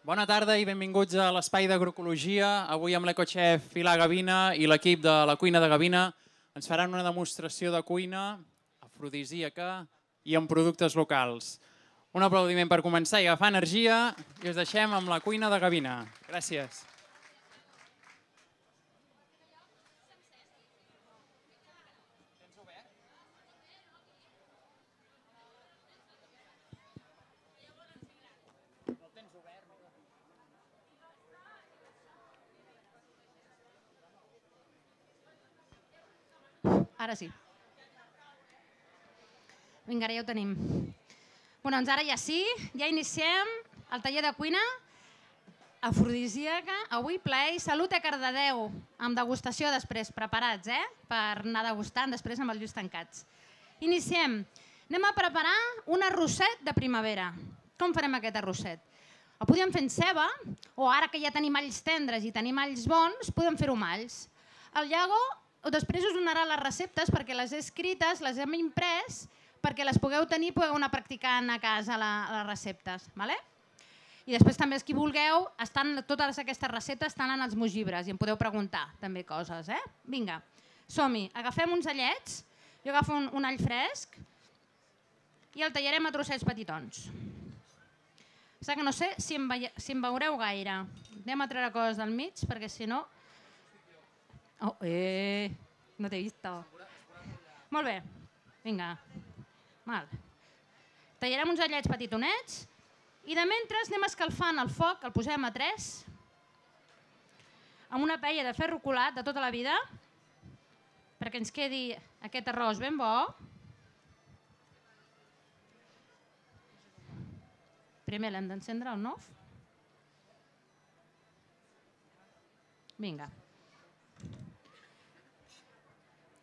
Bona tarda i benvinguts a l'Espai d'Agroecologia. Avui amb l'Ecochef Pilar Gavina i l'equip de la cuina de Gavina ens faran una demostració de cuina afrodisíaca i amb productes locals. Un aplaudiment per començar i agafar energia i us deixem amb la cuina de Gavina. Gràcies. Ara sí. Vinga, ara ja ho tenim. Doncs ara ja sí, ja iniciem el taller de cuina afrodisíaca. Avui plaer i salut a Cardedeu, amb degustació després, preparats, per anar degustant després amb els ulls tancats. Iniciem. Anem a preparar un arrosset de primavera. Com farem aquest arrosset? El podem fer en ceba, o ara que ja tenim alls tendres i tenim alls bons, podem fer-ho amb alls. El Iago després us donarà les receptes perquè les he escrites, les hem imprès, perquè les pugueu tenir i pugueu anar practicant a casa les receptes. I després també, qui vulgueu, totes aquestes receptes estan en els meus llibres i em podeu preguntar també coses. Vinga, som-hi. Agafem uns allets, jo agafo un all fresc i el tallarem a trossets petitons. Que no sé si em veureu gaire. Anem a treure coses del mig perquè si no... No t'he vist. Molt bé, vinga. Tallarem uns allets petitonets i de mentre anem escalfant el foc, el posem a 3 amb una paella de ferro colat de tota la vida perquè ens quedi aquest arròs ben bo. Primer l'hem d'encendre el nof. Vinga.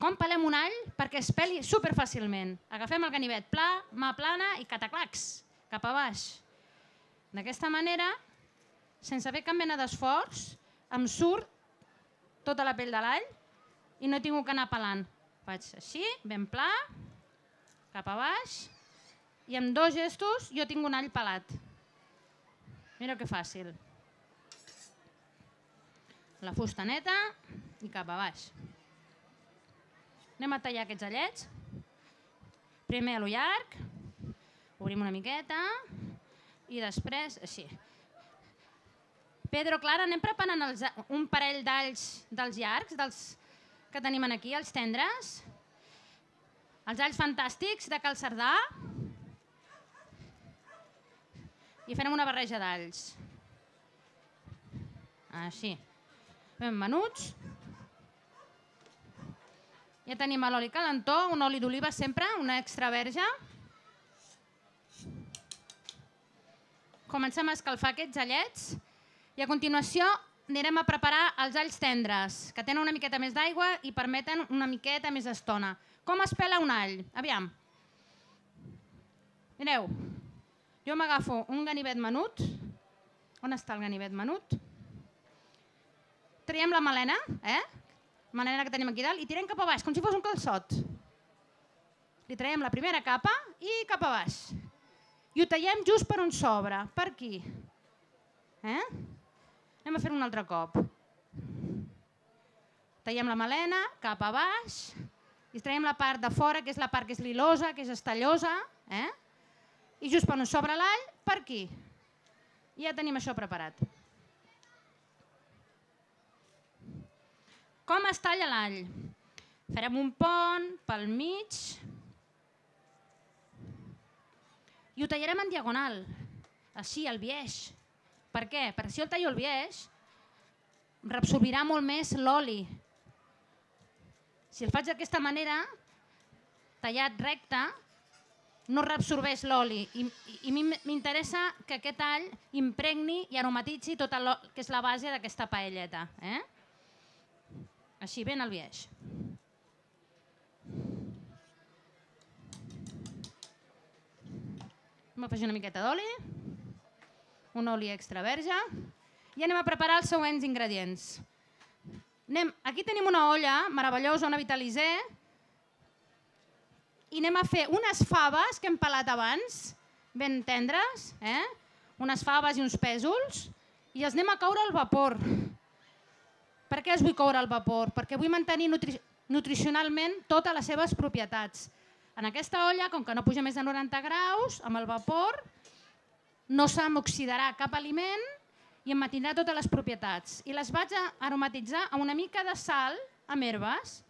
Com pelem un all perquè es peli superfàcilment? Agafem el ganivet pla, mà plana i cataclacs, cap a baix. D'aquesta manera, sense fer cap mena d'esforç, em surt tota la pell de l'all i no he tingut que anar pelant. Faig així, ben pla, cap a baix, i amb 2 gestos jo tinc un all pelat. Mira que fàcil. La fusta neta i cap a baix. Anem a tallar aquests allets. Primer a lo llarg, obrim una miqueta i després així. Pedro, Clara, anem preparant un parell d'alls dels llargs, dels que tenim aquí, els tendres. Els alls fantàstics de Cal Cerdà. I farem una barreja d'alls. Així. Ben menuts. Ja tenim l'oli calentó, un oli d'oliva sempre, una extra verge. Comencem a escalfar aquests allets i a continuació anirem a preparar els alls tendres, que tenen una miqueta més d'aigua i permeten una miqueta més estona. Com es pela un all? Aviam. Mireu, jo m'agafo un ganivet menut. On està el ganivet menut? Traiem la melena, melena que tenim aquí dalt, i tirem cap a baix, com si fos un calçot. Li traiem la primera capa i cap a baix. I ho tallem just per on s'obre, per aquí. Anem a fer un altre cop. Tallem la melena, cap a baix, i traiem la part de fora, que és la part que és lilosa, que és estallosa, i just per on s'obre l'all, per aquí. I ja tenim això preparat. Com es talla l'all? Farem un pont pel mig i ho tallarem en diagonal, així, al biaix. Per què? Perquè si jo el tallo al biaix, reabsorbirà molt més l'oli. Si el faig d'aquesta manera, tallat recte, no reabsorbeix l'oli i m'interessa que aquest all impregni i aromatitzi tot el que és la base d'aquesta paelleta. Així, ben al biaix. Anem a afegir una miqueta d'oli, un oli extra verge i anem a preparar els següents ingredients. Aquí tenim una olla meravellosa, una Vitalisé, i anem a fer unes faves que hem pelat abans, ben tendres, unes faves i uns pèsols i els anem a coure al vapor. Per què els vull coure al vapor? Perquè vull mantenir nutricionalment totes les seves propietats. En aquesta olla, com que no puja més de 90 graus, amb el vapor no s'oxidarà cap aliment i em mantindrà totes les propietats. I les vaig aromatitzar amb una mica de sal amb herbes,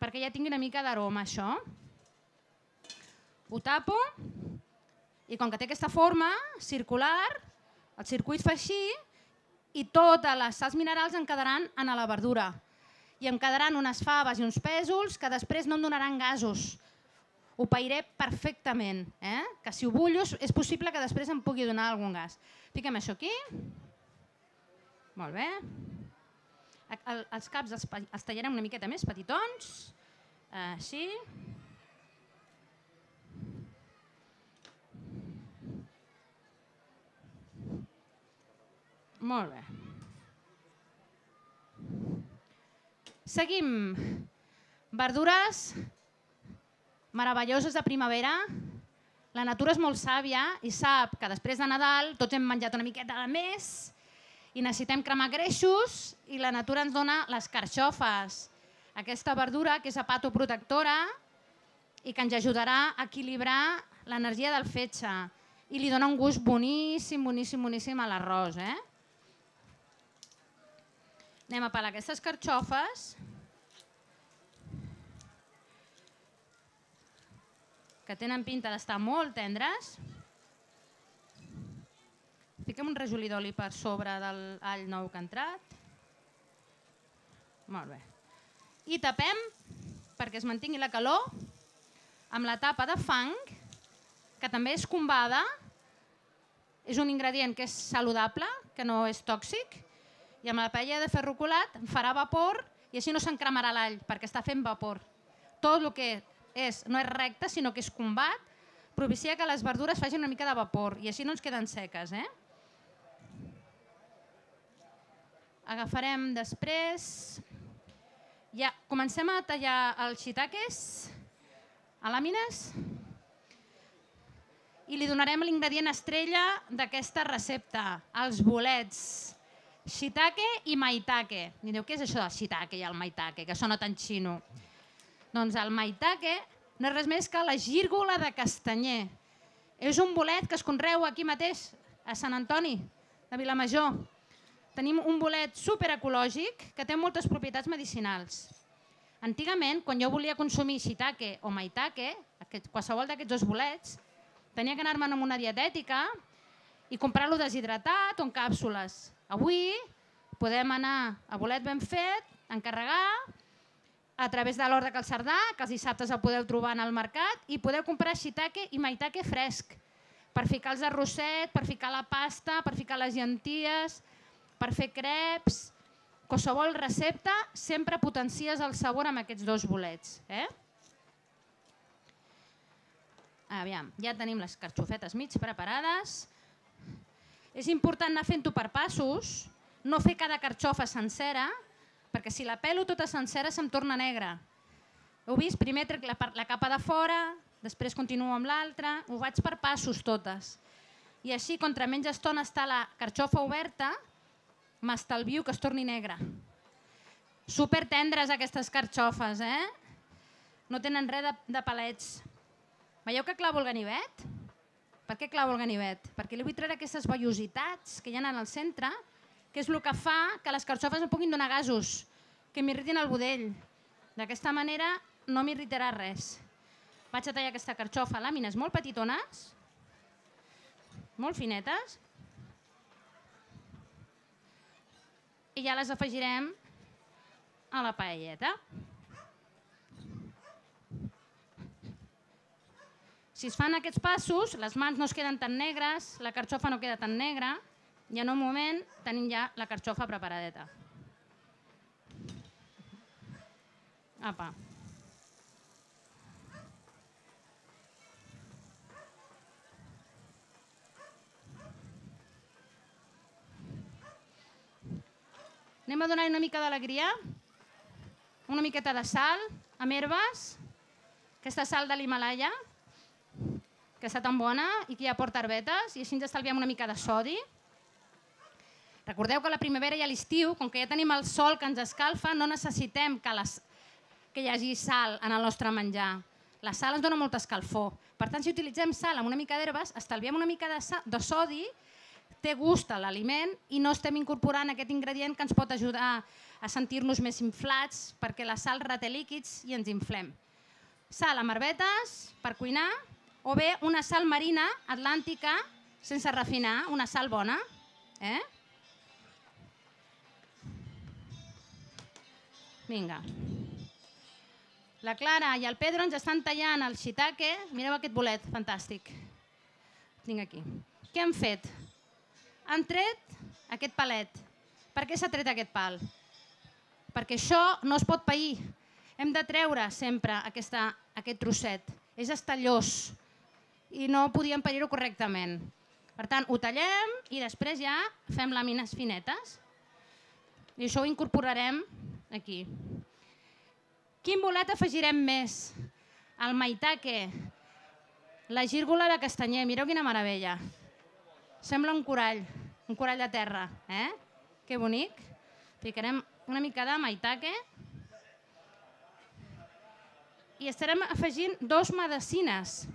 perquè ja tingui una mica d'aroma això. Ho tapo i com que té aquesta forma circular, el circuit fa així i totes les sals minerals em quedaran en la verdura. I em quedaran unes faves i uns pèsols que després no em donaran gasos. Ho pairé perfectament, que si ho bullo és possible que després em pugui donar algun gas. Fiquem això aquí. Molt bé. Els caps els tallarem una miqueta més petitons. Així. Molt bé. Seguim. Verdures meravelloses de primavera. La natura és molt sàvia i sap que després de Nadal tots hem menjat una miqueta de més i necessitem cremar greixos i la natura ens dona les carxofes. Aquesta verdura que és hepatoprotectora i que ens ajudarà a equilibrar l'energia del fetge i li dona un gust boníssim, boníssim, boníssim a l'arròs. Anem a pelar aquestes carxofes. Que tenen pinta d'estar molt tendres. Fiquem un rajolí d'oli per sobre de l'all nou que ha entrat. Molt bé. I tapem, perquè es mantingui la calor, amb la tapa de fang, que també és combada. És un ingredient que és saludable, que no és tòxic, i amb la paella de ferro colat farà vapor i així no s'encremarà l'all, perquè està fent vapor. Tot el que no és recte, sinó que és combat, propicia que les verdures facin una mica de vapor i així no ens queden seques. Agafarem després... Ja comencem a tallar els shiitakes a làmines i li donarem l'ingredient estrella d'aquesta recepta, els bolets. Shiitake i maitake. I diu, què és això del shiitake i el maitake, que sona tan xino? Doncs el maitake no és res més que la gírgola de castanyer. És un bolet que es conreu aquí mateix, a Sant Antoni, de Vilamajor. Tenim un bolet superecològic que té moltes propietats medicinals. Antigament, quan jo volia consumir shiitake o maitake, qualsevol d'aquests dos bolets, tenia que anar-me'n amb una dietètica i comprar-lo deshidratat o en càpsules. Avui podem anar a bolet ben fet, encarregar, a través de l'Hort de Cal Cerdà, que els dissabtes el podeu trobar en el mercat, i podeu comprar shiitake i maitake fresc, per ficar els arrosset, per ficar la pasta, per ficar les llenties, per fer creps. Qualsevol recepta sempre potencies el sabor amb aquests dos bolets. Aviam, ja tenim les carxofetes mig preparades. És important anar fent-ho per passos, no fer cada carxofa sencera, perquè si la pelo tota sencera se'm torna negra. Heu vist? Primer trec la capa de fora, després continuo amb l'altra, ho vaig per passos totes. I així, contra menys estona està la carxofa oberta, m'estalvio que es torni negra. Super tendres aquestes carxofes, No tenen res de palets. Veieu que clavo el ganivet? Per què clavo el ganivet? Perquè li vull treure aquestes vellositats que hi ha en el centre, que és el que fa que les carxofes no puguin donar gasos, que m'irritin el budell. D'aquesta manera no m'irritarà res. Vaig a tallar aquesta carxofa a làmines molt petitones, molt finetes, i ja les afegirem a la paelleta. Si es fan aquests passos, les mans no es queden tan negres, la carxofa no queda tan negra, i en un moment tenim ja la carxofa preparadeta. Apa. Anem a donar una mica d'alegria, una miqueta de sal, amb herbes, aquesta sal de l'Himalaya, que que està tan bona i que ja porta herbetes, i així ens estalviem una mica de sodi. Recordeu que a la primavera i a l'estiu, com que ja tenim el sol que ens escalfa, no necessitem que hi hagi sal en el nostre menjar. La sal ens dona molta escalfor. Per tant, si utilitzem sal amb una mica d'herbes, estalviem una mica de sodi, té gust a l'aliment i no estem incorporant aquest ingredient que ens pot ajudar a sentir-nos més inflats, perquè la sal reté líquids i ens inflem. Sal amb herbetes per cuinar, o bé una sal marina atlàntica sense refinar, una sal bona. Vinga. La Clara i el Pedro ens estan tallant el shiitake. Mireu aquest bolet, fantàstic. Tinc aquí. Què han fet? Han tret aquest palet. Per què s'ha tret aquest pal? Perquè això no es pot pair. Hem de treure sempre aquest trosset. És estallós i no podíem pair-ho correctament. Per tant, ho tallem i després ja fem làmines finetes. I això ho incorporarem aquí. Quin bolet afegirem més? El maitake, la gírgola de castanyer. Mireu quina meravella. Sembla un corall de terra. Que bonic. Ficarem una mica de maitake. I estarem afegint 2 medecines.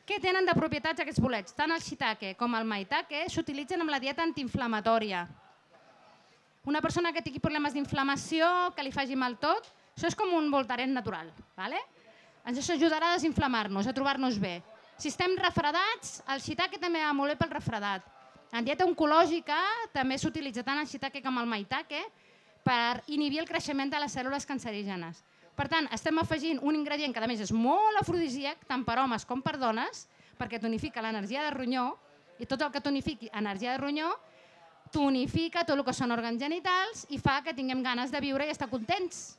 Què tenen de propietats aquests bolets? Tant el shiitake com el maitake s'utilitzen amb la dieta antiinflamatòria. Una persona que tingui problemes d'inflamació, que li faci mal tot, això és com un Voltaren natural. Ens ajudarà a desinflamar-nos, a trobar-nos bé. Si estem refredats, el shiitake també va molt bé pel refredat. En dieta oncològica també s'utilitza tant el shiitake com el maitake per inhibir el creixement de les cèl·lules cancerígenes. Per tant, estem afegint un ingredient que a més és molt afrodisíac, tant per homes com per dones, perquè tonifica l'energia de ronyó, i tot el que tonifiqui energia de ronyó tonifica tot el que són òrgans genitals i fa que tinguem ganes de viure i estar contents.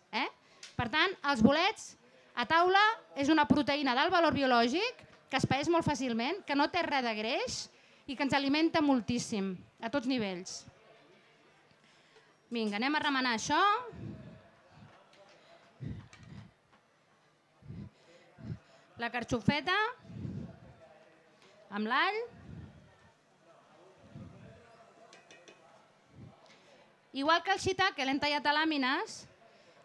Per tant, els bolets a taula és una proteïna d'alt valor biològic que es paeix molt fàcilment, que no té res de greix i que ens alimenta moltíssim, a tots nivells. Vinga, anem a remenar això. La carxofeta amb l'all. Igual que el shiitake l'hem tallat a làmines,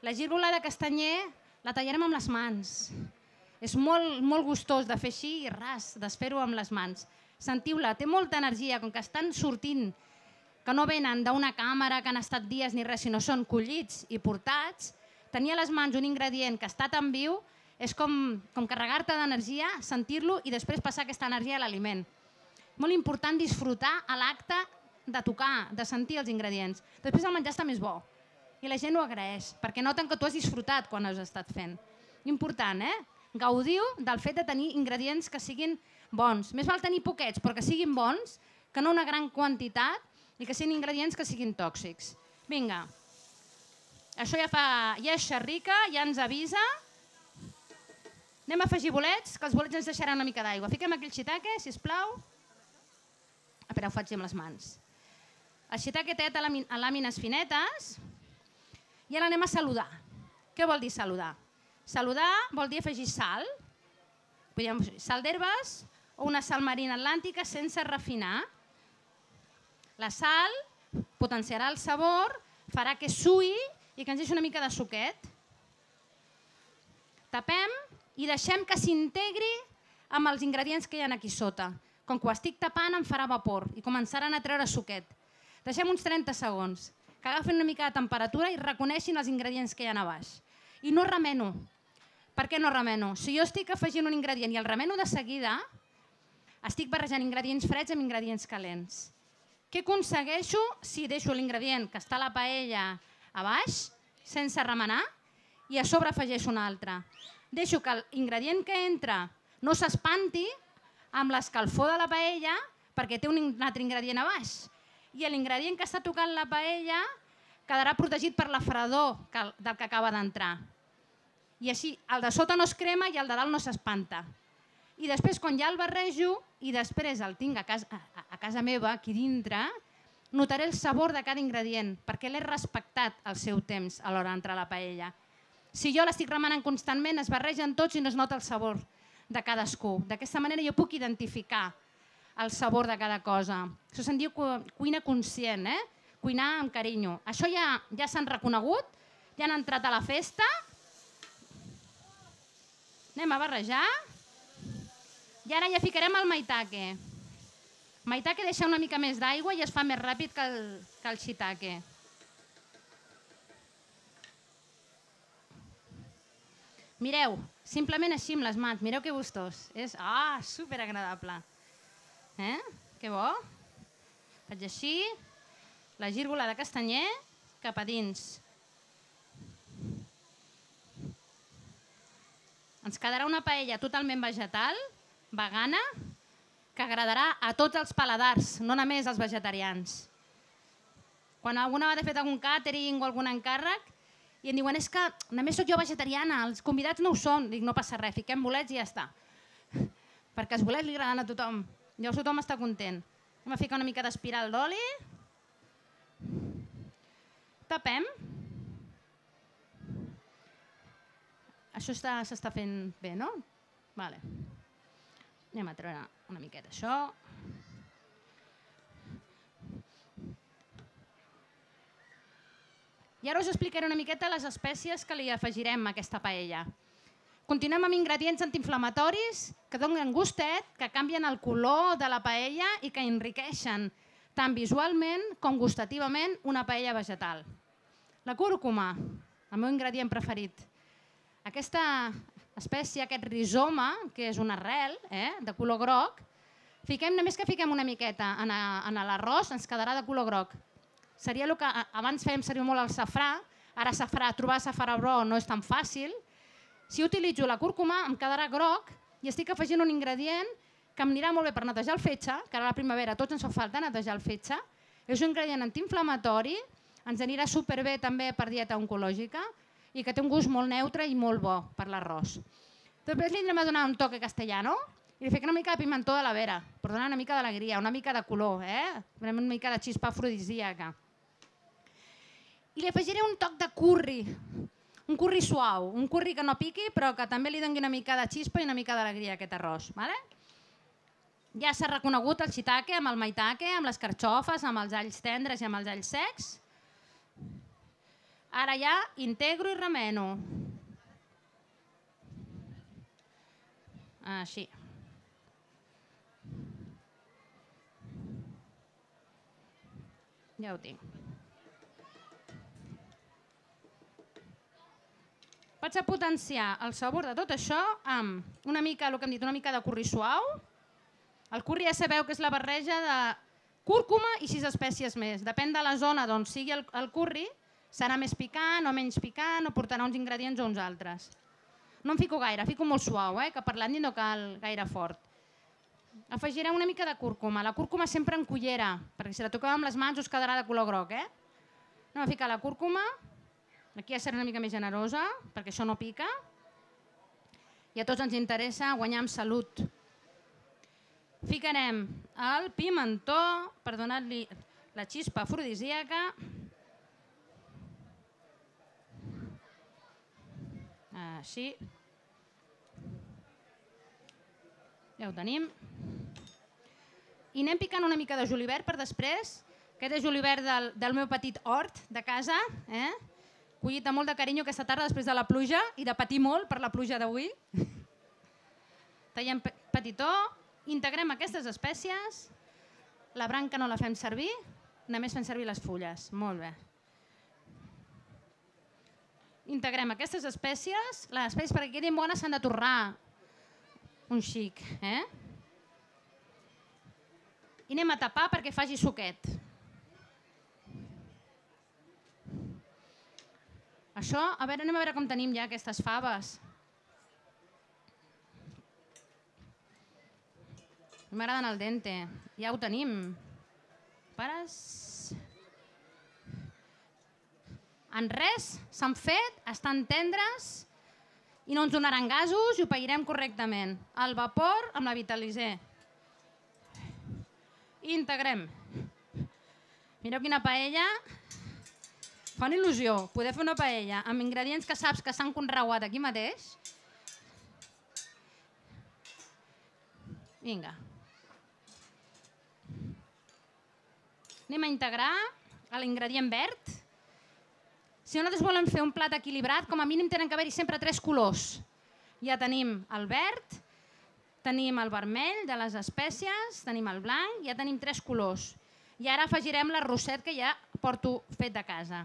la gírgola de castanyer la tallarem amb les mans. És molt gustós de fer així i ras, desfer-ho amb les mans. Sentiu-la, té molta energia, com que estan sortint, que no venen d'una càmera que han estat dies ni res, sinó són collits i portats. Tenir a les mans un ingredient que està tan viu és com carregar-te d'energia, sentir-lo i després passar aquesta energia a l'aliment. Molt important disfrutar a l'acte de tocar, de sentir els ingredients. Després el menjar està més bo i la gent ho agraeix, perquè noten que tu has disfrutat quan has estat fent. Important, Gaudiu del fet de tenir ingredients que siguin bons. Més val tenir poquets, però que siguin bons, que no una gran quantitat i que siguin ingredients que siguin tòxics. Vinga, això ja és xerrica, ja ens avisa. Anem a afegir bolets, que els bolets ens deixaran una mica d'aigua. Fiquem aquí el shiitake, sisplau. Espera, ho faig amb les mans. El shiitake té a làmines finetes i ara anem a saludar. Què vol dir saludar? Saludar vol dir afegir sal, sal d'herbes o una sal marina atlàntica sense refinar. La sal potenciarà el sabor, farà que suï i que ens deixi una mica de suquet. Tapem i deixem que s'integri amb els ingredients que hi ha aquí sota. Com que ho estic tapant em farà vapor i començaran a treure suquet. Deixem uns 30 segons, que agafin una mica de temperatura i reconeixin els ingredients que hi ha a baix. I no remeno. Per què no remeno? Si jo estic afegint un ingredient i el remeno de seguida, estic barrejant ingredients freds amb ingredients calents. Què aconsegueixo si deixo l'ingredient que està a la paella a baix, sense remenar, i a sobre afegeixo un altre? Deixo que l'ingredient que entra no s'espanti amb l'escalfor de la paella perquè té un altre ingredient a baix. I l'ingredient que està tocant la paella quedarà protegit per la fredor del que acaba d'entrar. I així el de sota no es crema i el de dalt no s'espanta. I després, quan ja el barrejo i després el tinc a casa meva, aquí dintre, notaré el sabor de cada ingredient perquè l'he respectat el seu temps a l'hora d'entrar a la paella. Si jo l'estic remenant constantment, es barregen tots i no es nota el sabor de cadascú. D'aquesta manera jo puc identificar el sabor de cada cosa. Això se'n diu cuina conscient, cuinar amb carinyo. Això ja s'han reconegut, ja han entrat a la festa. Anem a barrejar. I ara ja ficarem el maitake. Maitake deixa una mica més d'aigua i es fa més ràpid que el shiitake. Mireu, simplement així amb les mans, mireu que gustós. És superagradable. Que bo. Faig així, la gírgola de castanyer cap a dins. Ens quedarà una paella totalment vegetal, vegana, que agradarà a tots els paladars, no només als vegetarians. Quan alguna vegada he fet algun càtering o algun encàrrec i em diuen és que només sóc jo vegetariana, els convidats no ho són. Dic, no passa res, fiquem bolets i ja està. Perquè els bolets li agraden a tothom. Llavors tothom està content. Anem a ficar una mica d'espiral d'oli. Tapem. Això s'està fent bé, no? Vale. Anem a treure una miqueta això. I ara us explicaré una miqueta les espècies que li afegirem a aquesta paella. Continuem amb ingredients antiinflamatoris que donen gustet, que canvien el color de la paella i que enriqueixen tant visualment com gustativament una paella vegetal. La cúrcuma, el meu ingredient preferit. Aquesta espècie, aquest rizoma, que és una arrel de color groc, només que fiquem una miqueta en l'arròs ens quedarà de color groc. Seria el que abans fèiem servir molt el safrà, ara trobar safrà bro no és tan fàcil. Si utilitzo la cúrcuma em quedarà groc i estic afegint un ingredient que em anirà molt bé per netejar el fetge, que ara a la primavera tots ens fa falta netejar el fetge. És un ingredient antiinflamatori, ens anirà superbé també per dieta oncològica i que té un gust molt neutre i molt bo per l'arròs. Després li anem a donar un toque castellano i li fiquem una mica de pimentó de la vera per donar una mica d'alegria, una mica de color, una mica de xispa afrodisíaca. I li afegiré un toc de curri, un curri suau, un curri que no piqui però que també li doni una mica de xispa i una mica d'alegria a aquest arròs. Ja s'ha reconegut el shiitake amb el maitake, amb les carxofes, amb els alls tendres i amb els alls secs. Ara ja integro i remeno. Així. Ja ho tinc. Vaig a potenciar el sabor de tot això amb una mica, el que hem dit, una mica de curri suau. El curri ja sabeu que és la barreja de cúrcuma i 6 espècies més. Depèn de la zona d'on sigui el curri, serà més picant o menys picant o portarà uns ingredients o uns altres. No em fico gaire, fico molt suau, que per l'Andy no cal gaire fort. Afegirem una mica de cúrcuma. La cúrcuma sempre en cullera, perquè si la toqueu amb les mans us quedarà de color groc. Anem a ficar la cúrcuma. Aquí ja serà una mica més generosa, perquè això no pica. I a tots ens interessa guanyar amb salut. Ficarem el pimentó per donar-li la xispa afrodisíaca. Així. Ja ho tenim. I anem picant una mica de julivert per després. Aquest és julivert del meu petit hort de casa, collit amb molt de carinyo aquesta tarda després de la pluja i de patir molt per la pluja d'avui. Tallem petitó, integrem aquestes espècies, la branca no la fem servir, només fem servir les fulles. Molt bé. Integrem aquestes espècies, les espècies perquè quedin bones s'han de torrar un xic. I anem a tapar perquè faci suquet. Això, anem a veure com tenim ja aquestes faves. M'agraden al dente, ja ho tenim. Pares. En res, s'han fet, estan tendres i no ens donaran gasos i ho pairem correctament. Al vapor amb la Vitaliser. I integrem. Mireu quina paella. Fan il·lusió poder fer una paella amb ingredients que saps que s'han conreuat aquí mateix. Vinga. Anem a integrar l'ingredient verd. Si nosaltres volem fer un plat equilibrat, com a mínim tenen que haver-hi sempre 3 colors. Ja tenim el verd, tenim el vermell de les espècies, tenim el blanc, ja tenim 3 colors. I ara afegirem l'arrosset que ja porto fet de casa.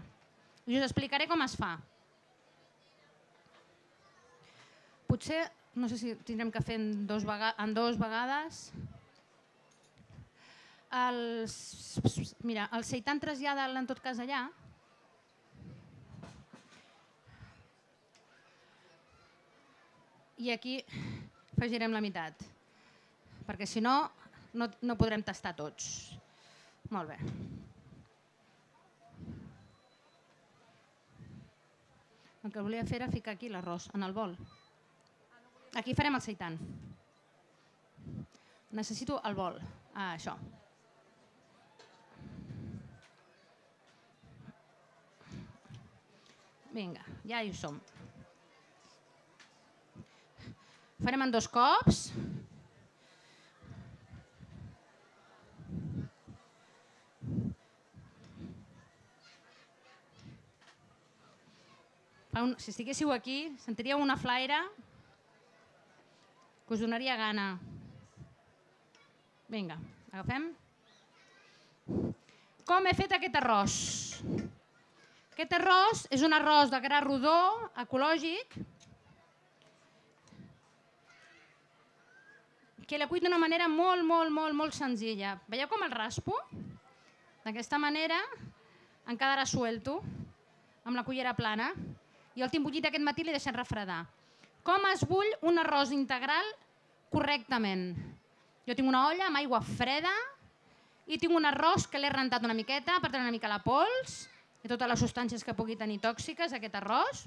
I us explicaré com es fa. Potser, no sé si tindrem que fer en 2 vegades. Mira, el seitan trasllada en tot cas allà. I aquí afegirem la meitat, perquè si no, no podrem tastar tots. Molt bé. El que volia fer era ficar aquí l'arròs, en el bol. Aquí farem el seitan. Necessito el bol. Això. Vinga, ja hi som. Farem en 2 cops. Si estiguéssiu aquí, sentiríeu una flaire que us donaria gana. Vinga, agafem. Com he fet aquest arròs? Aquest arròs és un arròs de gra rodó, ecològic, que l'he cuit d'una manera molt senzilla. Veieu com el raspo? D'aquesta manera em quedarà suelto, amb la cullera plana, i el tinc bullit aquest matí l'he deixat refredar. Com es bull un arròs integral correctament? Jo tinc una olla amb aigua freda i tinc un arròs que l'he rentat una miqueta per treure una mica la pols i totes les substàncies que pugui tenir tòxiques aquest arròs.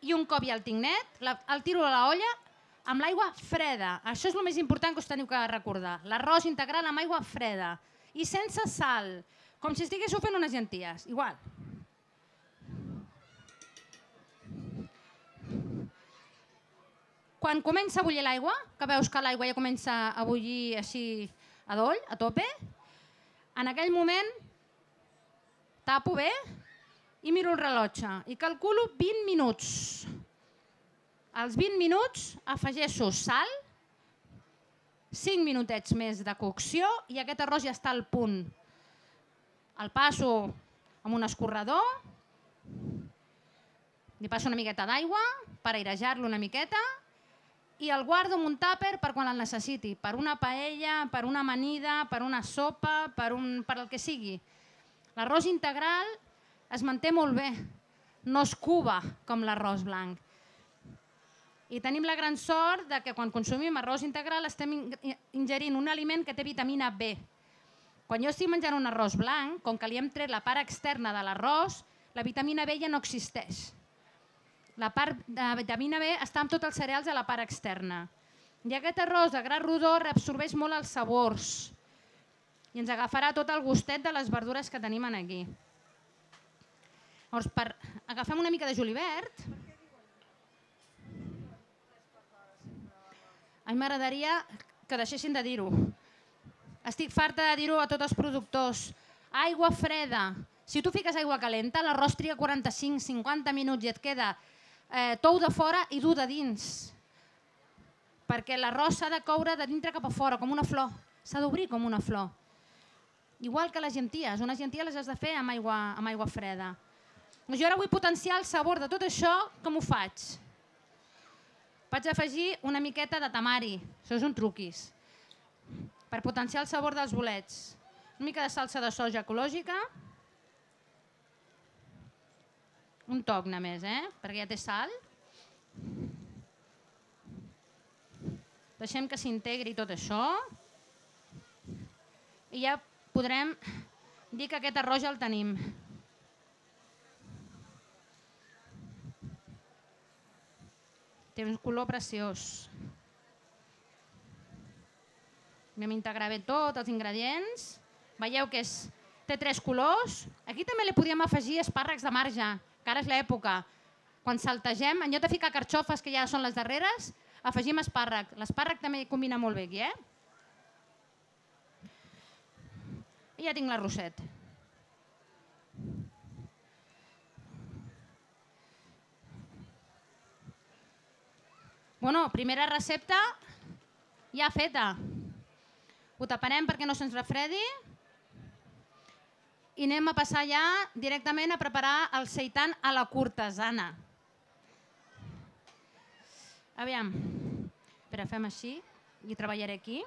I un cop ja el tinc net, el tiro a l'olla amb l'aigua freda. Això és el més important que us teniu que recordar. L'arròs integral amb aigua freda i sense sal, com si estiguéssiu fent unes llenties. Igual. Quan comença a bullir l'aigua, que veus que l'aigua ja comença a bullir així a doll, a tope, en aquell moment tapo bé i miro el rellotge i calculo 20 minuts. Als 20 minuts afegeixo sal, 5 minutets més de cocció i aquest arròs ja està al punt. El passo amb un escorredor, li passo una miqueta d'aigua per airejar-lo una miqueta i el guardo en un tàper per quan el necessiti, per una paella, per una amanida, per una sopa, per el que sigui. L'arròs integral es manté molt bé, no es cuba com l'arròs blanc. I tenim la gran sort que quan consumim arròs integral estem ingerint un aliment que té vitamina B. Quan jo estic menjant un arròs blanc, com que li hem tret la part externa de l'arròs, la vitamina B ja no existeix. La part de vitamina B està en tots els cereals a la part externa. I aquest arròs de gra rodó reabsorbeix molt els sabors i ens agafarà tot el gustet de les verdures que tenim aquí. Llavors, agafem una mica de julivert. A mi m'agradaria que deixessin de dir-ho. Estic farta de dir-ho a tots els productors. Aigua freda. Si tu fiques aigua calenta, l'arròs triga 45-50 minuts i et queda tou de fora i dur de dins. Perquè l'arròs s'ha de coure de dintre cap a fora, com una flor. S'ha d'obrir com una flor. Igual que les llenties. Unes llenties les has de fer amb aigua freda. Jo ara vull potenciar el sabor de tot això, com ho faig? Vaig afegir una miqueta de tamari. Això és un truquis. Per potenciar el sabor dels bolets. Una mica de salsa de soja ecològica. Un toc només, perquè ja té sal. Deixem que s'integri tot això. I ja podrem dir que aquest arròs ja el tenim. Té un color preciós. Vam integrar bé tots els ingredients. Veieu que té 3 colors. Aquí també li podíem afegir espàrrecs de marge, que ara és l'època. Quan saltegem, en lloc de ficar carxofes, que ja són les darreres, Afegim espàrrec. L'espàrrec també combina molt bé aquí, I ja tinc l'arrosset. Bueno, primera recepta ja feta. Ho taparem perquè no se'ns refredi i anem a passar ja directament a preparar el seitan a la cortesana. Aviam, espera, fem així i treballaré aquí.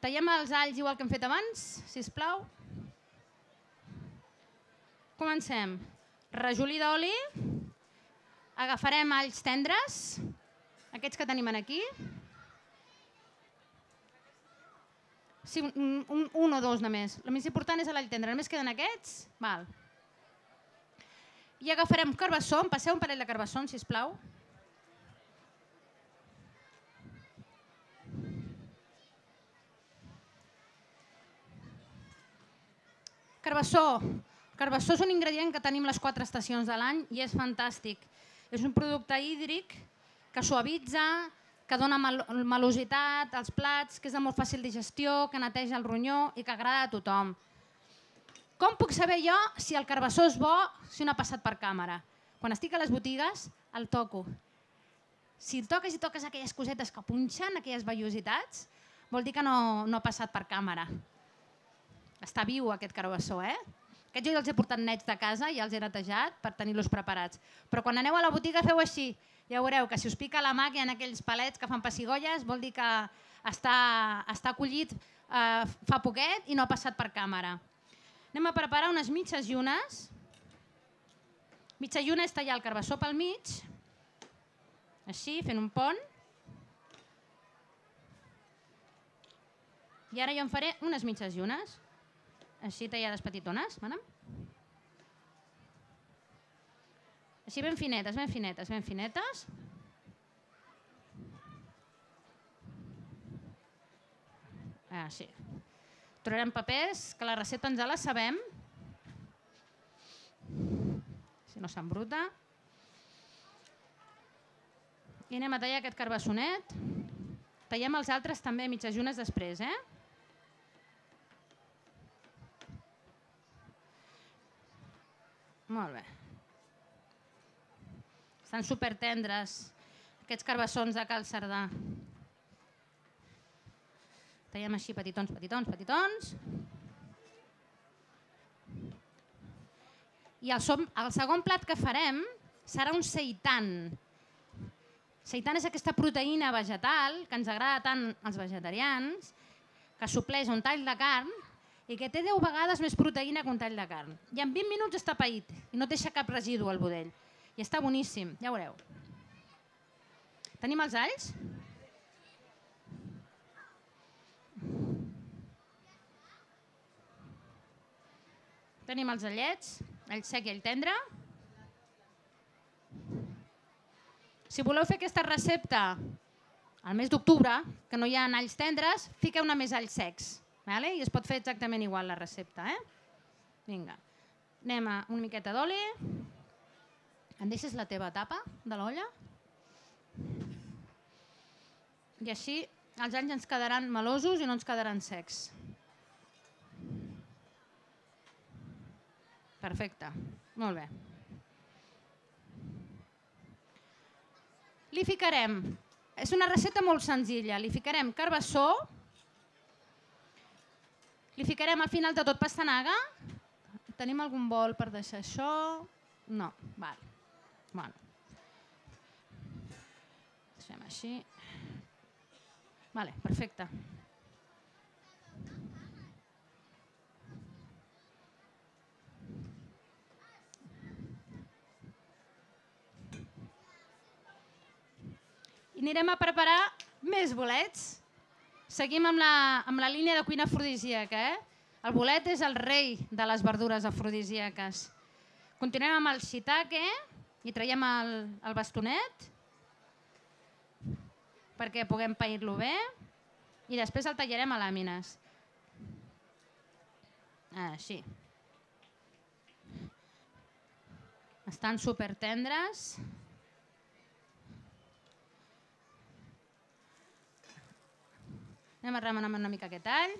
Tallem els alls igual que hem fet abans, sisplau. Comencem. Rajolí d'oli. Agafarem alls tendres, aquests que tenim aquí. Sí, un o dos només. El més important és l'all tendre. Només queden aquests. Val. I agafarem carbassó. Em passeu un parell de carbassons, sisplau. Carbassó. Carbassó és un ingredient que tenim les 4 estacions de l'any i és fantàstic. És un producte hídric que suavitza, que dona melositat als plats, que és de molt fàcil digestió, que neteja el ronyó i que agrada a tothom. Com puc saber jo si el carbassó és bo si no ha passat per càmera? Quan estic a les botigues, el toco. Si toques i toques aquelles cosetes que punxen, aquelles vellositats, vol dir que no ha passat per càmera. Està viu aquest carbassó, Aquests jo els he portat nets de casa i els he netejat per tenir-los preparats. Però quan aneu a la botiga feu així. Ja veureu que si us pica la mà que hi ha aquells palets que fan pessigolles vol dir que està collit fa poquet i no ha passat per càmera. Anem a preparar unes mitges llunes. Mitja lluna és tallar el carbassó pel mig, així, fent un pont. I ara jo en faré unes mitges llunes. Així tallades petitones. Així ben finetes, ben finetes, ben finetes. Així. Trobarem papers, que la recepta ens la sabem. Si no s'embruta. I anem a tallar aquest carbassonet. Tallem els altres també mitges llunes després, Molt bé. Estan supertendres aquests carbassons de Cal Cerdà. Tallem així petitons, petitons, petitons. I el segon plat que farem serà un seitan. Seitan és aquesta proteïna vegetal que ens agrada tant als vegetarians, que supleix un tall de carn i que té 10 vegades més proteïna que un tall de carn. I en 20 minuts està paït i no deixa cap residu al budell. I està boníssim, ja veureu. Tenim els alls? Tenim els allets, all sec i all tendre. Si voleu fer aquesta recepta al mes d'octubre, que no hi ha alls tendres, fiqueu-ne més alls secs. I es pot fer exactament igual la recepta. Vinga, anem a una miqueta d'oli. Em deixes la teva tapa de l'olla? I així els alls ens quedaran melosos i no ens quedaran secs. Perfecte, molt bé. Li ficarem, és una recepta molt senzilla, li ficarem carbassó, li ficarem al final de tot pastanaga. Tenim algun bol per deixar això? No, val. Bueno. Deixem així. Vale, perfecte. I anirem a preparar més bolets. Seguim amb la línia de cuina afrodisíaca. El bolet és el rei de les verdures afrodisíaques. Continuem amb el shiitake i traiem el bastonet perquè puguem pair-lo bé i després el tallarem a làmines. Així. Estan super tendres. Anem a remenar una mica aquest all.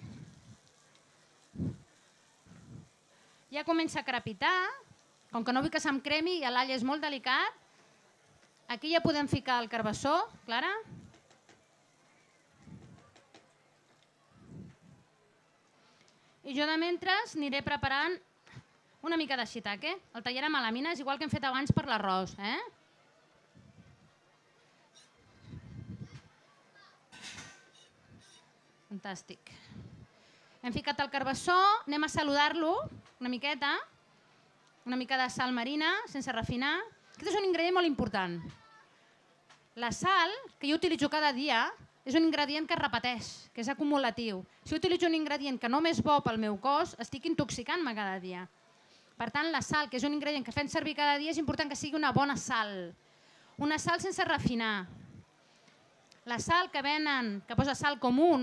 Ja comença a crepitar. Com que no vull que se'm cremi i l'all és molt delicat, aquí ja podem ficar el carbassó, Clara. I jo de mentre aniré preparant una mica de shiitake. El tallarem a làmines, igual que hem fet abans per l'arròs. Fantàstic. Hem ficat el carbassó, anem a saludar-lo una miqueta, una mica de sal marina, sense refinar. Aquest és un ingredient molt important. La sal, que jo utilitzo cada dia, és un ingredient que es repeteix, que és acumulatiu. Si utilitzo un ingredient que només és bo pel meu cos, estic intoxicant-me cada dia. Per tant, la sal, que és un ingredient que fem servir cada dia, és important que sigui una bona sal. Una sal sense refinar. La sal que venen, que posa sal comú,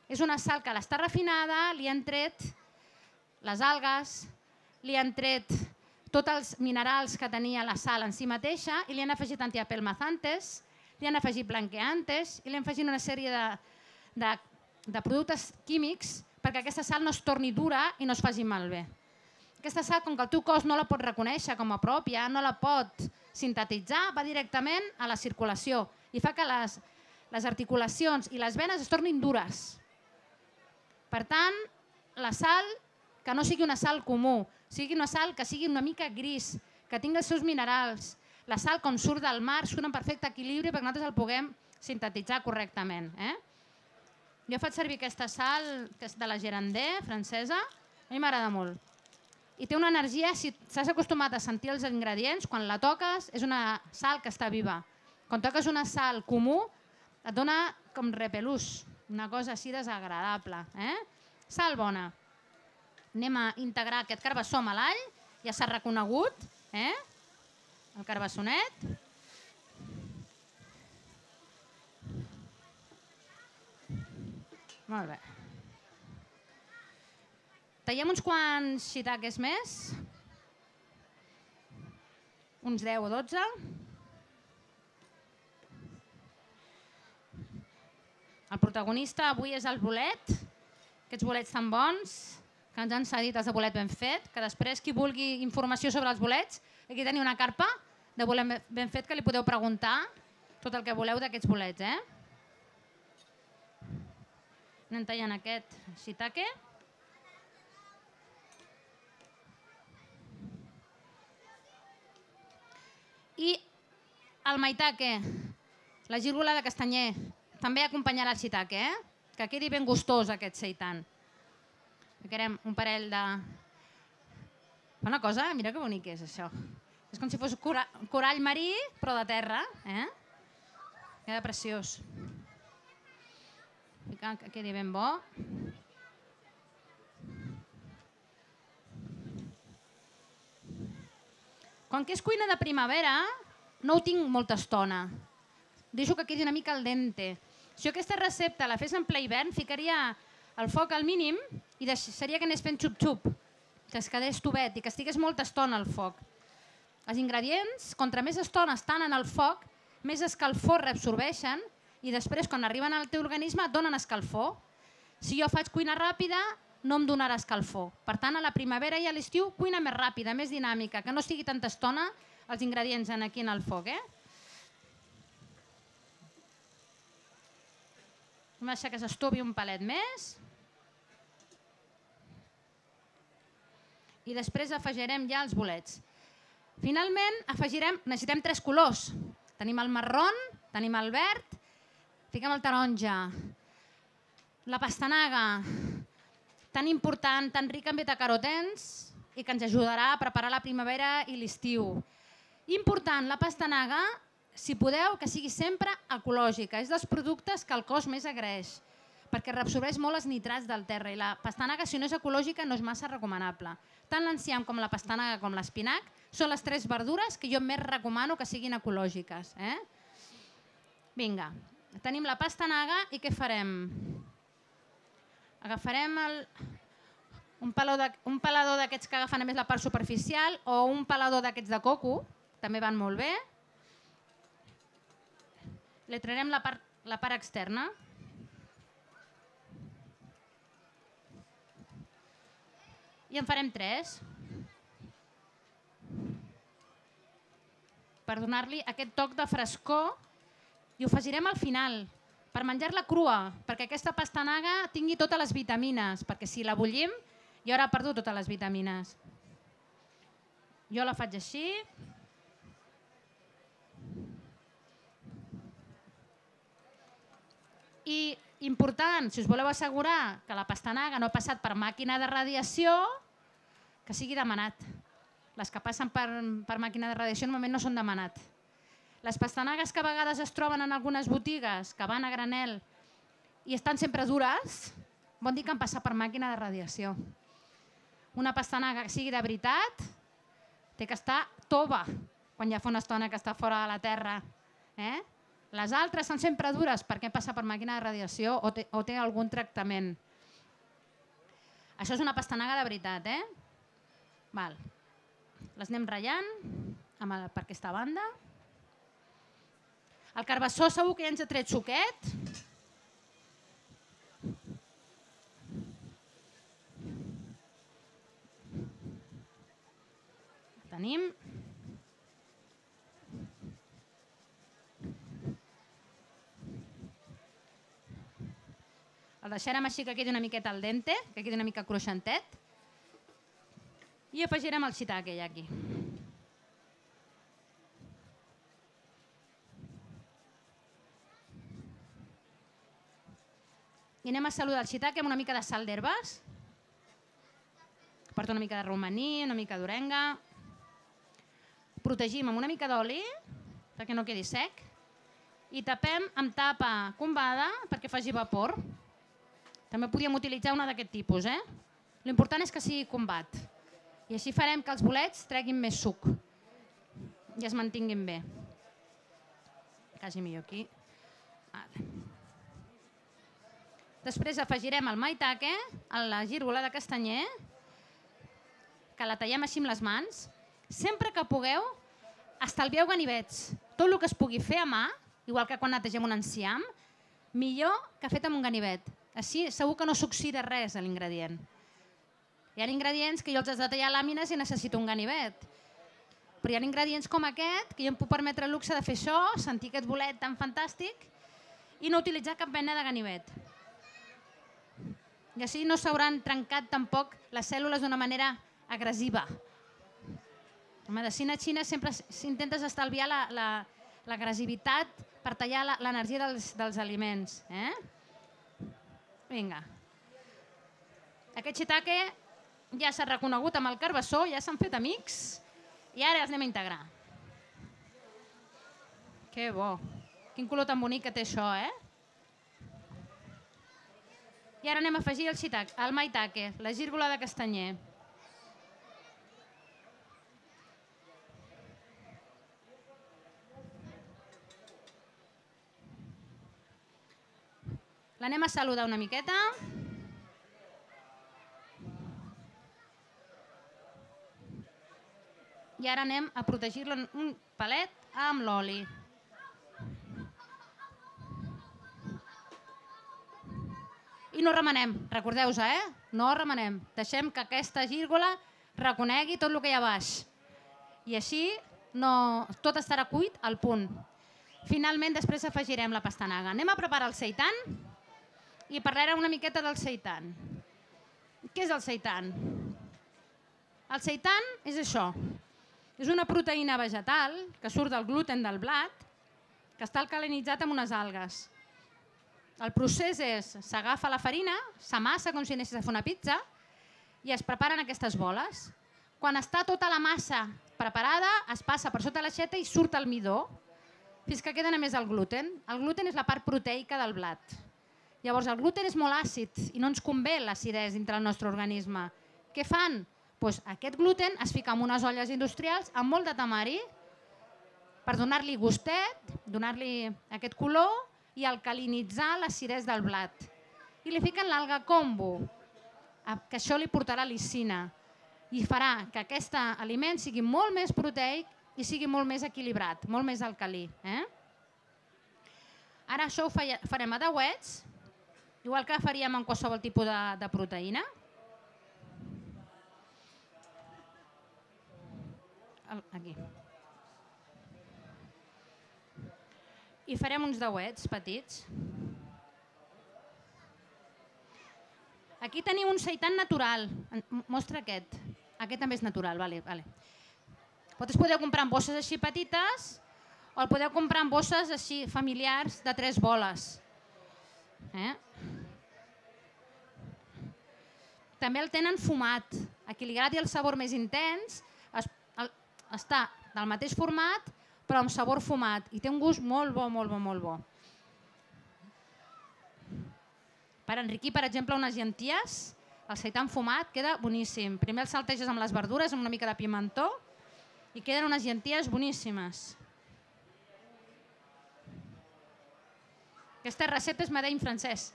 és una sal que l'està refinada, li han tret les algues, li han tret tots els minerals que tenia la sal en si mateixa i li han afegit antiapelmazantes, li han afegit blanqueantes i li han afegit una sèrie de productes químics perquè aquesta sal no es torni dura i no es faci malbé. Aquesta sal, com que el teu cos no la pot reconèixer com a pròpia, no la pot sintetitzar, va directament a la circulació i fa que les articulacions i les venes es tornin dures. Per tant, la sal, que no sigui una sal comú, sigui una sal que sigui una mica gris, que tingui els seus minerals. La sal, com surt del mar, surt en perfecte equilibri perquè nosaltres el puguem sintetitzar correctament. Jo faig servir aquesta sal, que és de la Gerandé, francesa, a mi m'agrada molt. I té una energia, si s'has acostumat a sentir els ingredients, quan la toques és una sal que està viva. Quan toques una sal comú et dona com repelús, una cosa així desagradable. Sal bona. Anem a integrar aquest carbassó amb l'all, ja s'ha reconegut, el carbassonet. Molt bé. Tallem uns quants shiitakes més, uns 10 o 12. El protagonista avui és el bolet, aquests bolets tan bons que ens han cedit els de bolet ben fet, que després qui vulgui informació sobre els bolets, aquí teniu una carpa de bolet ben fet que li podeu preguntar tot el que voleu d'aquests bolets. Anem tallant aquest shiitake. I el maitake, la gírgola de castanyer, també acompanyarà el shiitake, que quedi ben gustós aquest seitan. Ficarem un parell de... Una cosa, mira que bonic és això. És com si fos corall marí, però de terra. Queda preciós. Ficar que quedi ben bo. Com que és cuina de primavera, no ho tinc molta estona. Deixo que quedi una mica al dente. Si jo aquesta recepta la fes en ple hivern, ficaria el foc al mínim i deixaria que anés fent xup-xup, que es quedés tovet i que estigués molta estona al foc. Els ingredients, contra més estona estan en el foc, més escalfor reabsorbeixen i després, quan arriben al teu organisme, et donen escalfor. Si jo faig cuina ràpida, no em donarà escalfor. Per tant, a la primavera i a l'estiu, cuina més ràpida, més dinàmica, que no estigui tanta estona els ingredients aquí en el foc. Hem de deixar que s'estovi un palet més. I després afegirem ja els bolets. Finalment, necessitem 3 colors. Tenim el marrón, tenim el verd, fiquem el taronja, la pastanaga, tan important, tan rica en betacarotens i que ens ajudarà a preparar la primavera i l'estiu. Important, la pastanaga, si podeu, que sigui sempre ecològica. És dels productes que el cos més agraeix, perquè reabsorbeix molt els nitrats del terra i la pastanaga, si no és ecològica, no és massa recomanable. Tant l'enciam com la pastanaga com l'espinac són les 3 verdures que jo més recomano que siguin ecològiques. Vinga, tenim la pastanaga i què farem? Agafarem un pelador d'aquests que agafen a més la part superficial o un pelador d'aquests de coco, també van molt bé. Li traurem la part externa. I en farem 3. Per donar-li aquest toc de frescor i ho afegirem al final, per menjar-la crua, perquè aquesta pastanaga tingui totes les vitamines, perquè si la bullim ja haurà perdut totes les vitamines. Jo la faig així. I important, si us voleu assegurar que la pastanaga no ha passat per màquina de radiació, que sigui demanat. Les que passen per màquina de radiació normalment no són demanat. Les pastanagues que a vegades es troben en algunes botigues, que van a granel i estan sempre dures, vol dir que han passat per màquina de radiació. Una pastanaga que sigui de veritat té que estar tova quan ja fa una estona que està fora de la terra. Les altres són sempre dures perquè passa per màquina de radiació o té algun tractament. Això és una pastanaga de veritat. Les anem ratllant per aquesta banda. El carbassó segur que ja ens ha tret suquet. Tenim. El deixarem així que quedi una miqueta al dente, que quedi una mica cruixentet. I afegirem el shiitake ja aquí. I anem a saludar el shiitake amb una mica de sal d'herbes. Porta una mica de romaní, una mica d'orenga. Protegim amb una mica d'oli perquè no quedi sec. I tapem amb tapa combada perquè faci vapor. També podríem utilitzar una d'aquest tipus. L'important és que sigui combat. I així farem que els bolets treguin més suc i es mantinguin bé. Quasi millor aquí. Després afegirem el maitake, la gírgola de castanyer, que la tallem així amb les mans. Sempre que pugueu, estalvieu ganivets. Tot el que es pugui fer a mà, igual que quan netegem un enciam, millor que fet amb un ganivet. Així segur que no s'oxida res a l'ingredient. Hi ha ingredients que jo els has de tallar làmines i necessito un ganivet. Però hi ha ingredients com aquest, que jo em puc permetre el luxe de fer això, sentir aquest bolet tan fantàstic i no utilitzar cap mena de ganivet. I així no s'hauran trencat tampoc les cèl·lules d'una manera agressiva. En medicina xina sempre s'intentes estalviar l'agressivitat per tallar l'energia dels aliments. Vinga. Aquest shiitake ja s'ha reconegut amb el carbassó, ja s'han fet amics i ara els anem a integrar. Que bo. Quin color tan bonic que té això, I ara anem a afegir el maitake, la gírgola de castanyer. L'anem a saludar una miqueta. I ara anem a protegir-lo un pelet amb l'oli. I no remenem, recordeu-vos, no remenem. Deixem que aquesta gírgola reconegui tot el que hi ha baix. I així tot estarà cuit al punt. Finalment, després afegirem la pastanaga. Anem a preparar el seitan i parlarem una miqueta del seitan. Què és el seitan? El seitan és això. És una proteïna vegetal que surt del gluten del blat que està alcalinitzat amb unes algues. El procés és, s'agafa la farina, s'amassa com si anessis a fer una pizza i es preparen aquestes boles. Quan està tota la massa preparada, es passa per sota l'aixeta i surt el midó fins que queda només el gluten. El gluten és la part proteica del blat. Llavors el gluten és molt àcid i no ens convé l'acidesa dintre el nostre organisme. Què fan? Aquest gluten es fica en unes olles industrials amb molt de tamari per donar-li gustet, donar-li aquest color i alcalinitzar l'acidesa del blat. I li fiquen l'alga kombu. que això li portarà lisina i farà que aquest aliment sigui molt més proteic i sigui molt més equilibrat, molt més alcalí. Ara això ho farem a dauets, igual que faríem en qualsevol tipus de proteïna. Aquí. I farem uns dauets petits. Aquí teniu un seitan natural. Mostra aquest. Aquest també és natural. Vosaltres podeu comprar en bosses així petites o el podeu comprar en bosses així familiars de 3 boles. També el tenen fumat. A qui li agradi el sabor més intens està del mateix format però amb sabor fumat i té un gust molt bo, molt bo, molt bo. Per enriquir, per exemple, unes llenties, el seitan fumat queda boníssim. Primer el salteges amb les verdures, amb una mica de pimentó, i queden unes llenties boníssimes. Aquesta recepta és made in francès.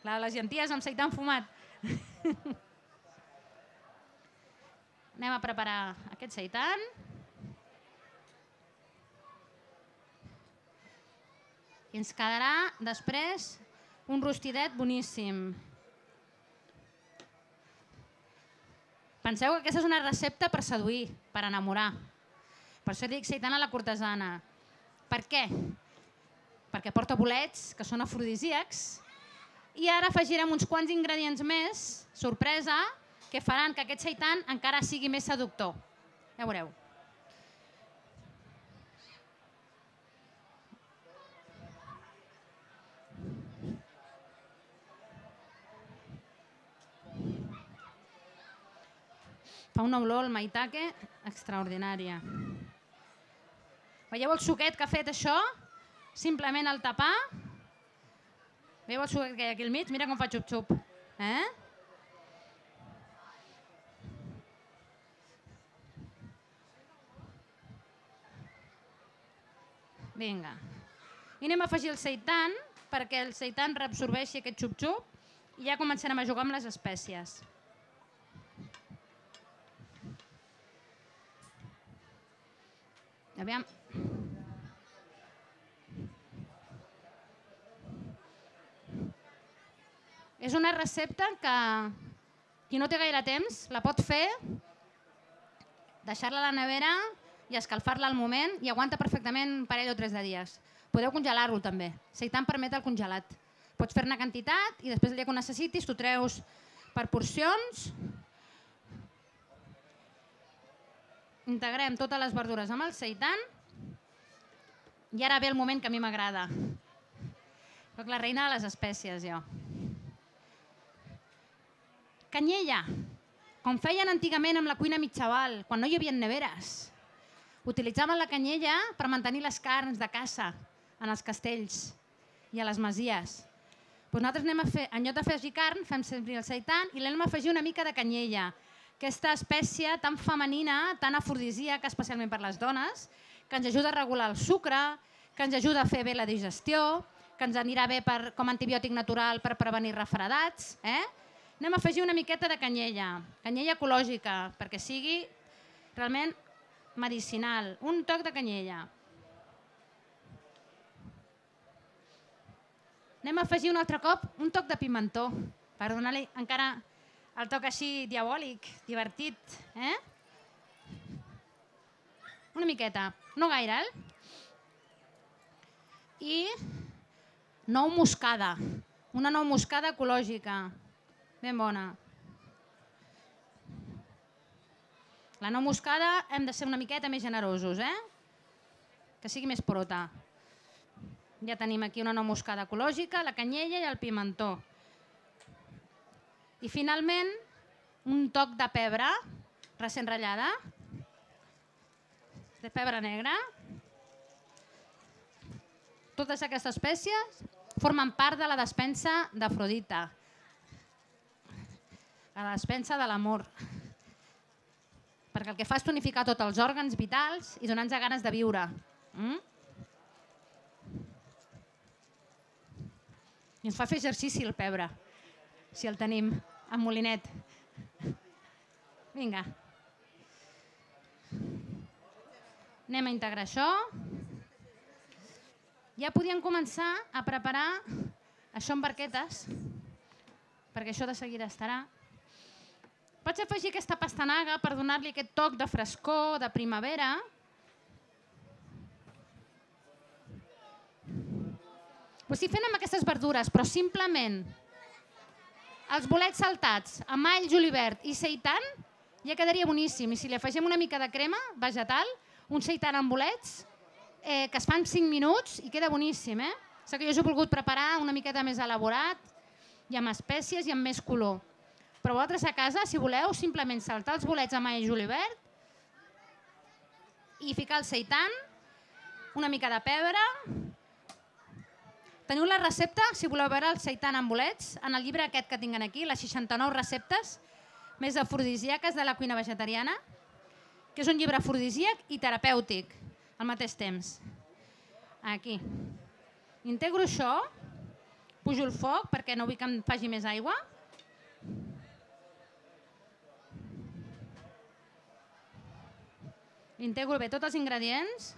La de les llenties amb seitan fumat. Anem a preparar aquest seitan. I ens quedarà després un rostidet boníssim. Penseu que aquesta és una recepta per seduir, per enamorar. Per això dic seitan a la cortesana. Per què? Perquè porta bolets, que són afrodisíacs, i ara afegirem uns quants ingredients més, sorpresa, que faran que aquest seitan encara sigui més seductor. Ja veureu. Fa una olor al maitake extraordinària. Veieu el suquet que ha fet això? Simplement al tapar. Veieu el suquet que hi ha aquí al mig? Mira com fa xup-xup. Vinga. I anem a afegir el seitan perquè el seitan reabsorbeixi aquest xup-xup i ja començarem a jugar amb les espècies. Aviam. És una recepta que qui no té gaire temps la pot fer, deixar-la a la nevera i escalfar-la al moment i aguanta perfectament un parell o 3 de dies. Podeu congelar-lo també. Seitan permet el congelat. Pots fer-ne quantitat i després el dia que ho necessitis t'ho treus per porcions. Integrem totes les verdures amb el seitan i ara ve el moment que a mi m'agrada. Soc la reina de les espècies, jo. Canyella, com feien antigament amb la cuina mitjaval, quan no hi havia neveres. Utilitzaven la canyella per mantenir les carns de caça en els castells i a les masies. Nosaltres en lloc d'afegir carn, fem servir el seitan i l'anem a afegir una mica de canyella. Aquesta espècie tan femenina, tan afrodisíaca, especialment per les dones, que ens ajuda a regular el sucre, que ens ajuda a fer bé la digestió, que ens anirà bé com a antibiòtic natural per prevenir refredats. Anem a afegir una miqueta de canyella ecològica, perquè sigui realment medicinal. Un toc de canyella. Anem a afegir un altre cop un toc de pimentó, per donar-li encara el toc així diabòlic, divertit. Una miqueta, no gaire. I nou moscada, una nou moscada ecològica, ben bona. La nou moscada hem de ser una miqueta més generosos, que sigui més prota. Ja tenim aquí una nou moscada ecològica, la canyella i el pimentó. I finalment, un toc de pebre recent ratllada, de pebre negre. Totes aquestes espècies formen part de la despensa d'Afrodita, la despensa de l'amor, perquè el que fa és tonificar tots els òrgans vitals i donar-nos ganes de viure. I ens fa fer exercici el pebre, si el tenim. amb molinet. Vinga. Anem a integrar això. Ja podíem començar a preparar això en barquetes, perquè això de seguida estarà. Pots afegir aquesta pastanaga per donar-li aquest toc de frescor, de primavera. Ho estic fent amb aquestes verdures, però simplement els bolets saltats amb all, julivert i seitan ja quedaria boníssim. I si li afegim una mica de crema vegetal, un seitan amb bolets, que es fan 5 minuts i queda boníssim. Sé que jo us he volgut preparar una miqueta més elaborat i amb espècies i amb més color. Però vosaltres a casa, si voleu, simplement saltar els bolets amb all i julivert i ficar el seitan, una mica de pebre. Teniu la recepta, si voleu veure el seitan amb bolets, en el llibre aquest que tinguin aquí, les 69 receptes més afrodisíaques de la cuina vegetariana, que és un llibre afrodisíac i terapèutic al mateix temps. Aquí. Integro això, pujo el foc perquè no vull que em faci més aigua. Integro bé tots els ingredients.